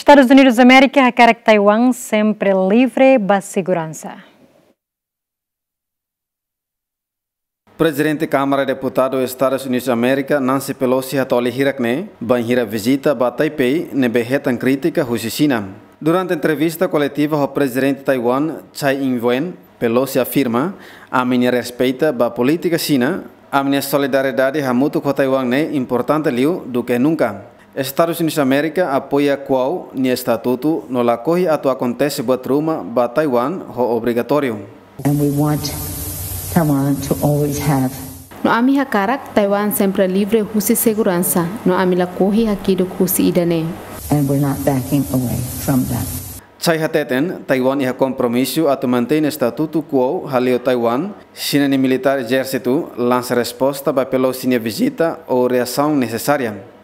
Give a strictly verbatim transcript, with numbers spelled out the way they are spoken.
Estadus Unidus Amérika hakarak Taiwan sempre livre ba seguransa. Prezidente Kámara Deputadu Estadus Unidus Amérika, Nancy Pelosi, hato'o hirak-ne'e bainhira vizita ba Taipei ne'ebé hetan krítika husi Xina. Durante entrevista koletiva ho Prezidente Taiwan, Tsai Ing-wen, Pelosi afirma: "Ami-nia respeita ba polítika Xina, ami-nia solidariedade hamutuk ho Taiwan ne'e importante liu duké nunka." Estadus Unidus Amérika apoia Kuo nia estatutu no lakohi atu akontese buat ruma ba Taiwan ho obrigatóriu. And we want Taiwan to always have. No ami hakarak Taiwan sempre livre husi seguransa, no ami lakohi hakiduk husi ida-ne'e. And we're not backing away from that. Tsai hateten, Taiwan iha kompromisu atu mantein estatutu Kuo haleu Taiwan, Xina nia militár ezérsitu lansa resposta ba Pelosi nia vizita ou reasaun nesesária.